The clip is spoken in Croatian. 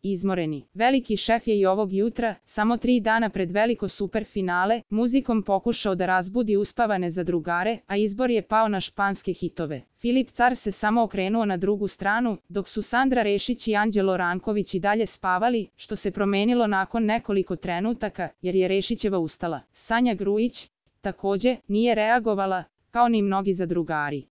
izmoreni. Veliki šef je i ovog jutra, samo 3 dana pred veliko superfinale, muzikom pokušao da razbudi uspavane zadrugare, a izbor je pao na španske hitove. Filip Car se samo okrenuo na drugu stranu, dok su Sandra Rešić i Anđelo Ranković i dalje spavali, što se promenilo nakon nekoliko trenutaka, jer je Rešićeva ustala. Sanja Grujić, takođe, nije reagovala, kao ni mnogi zadrugari.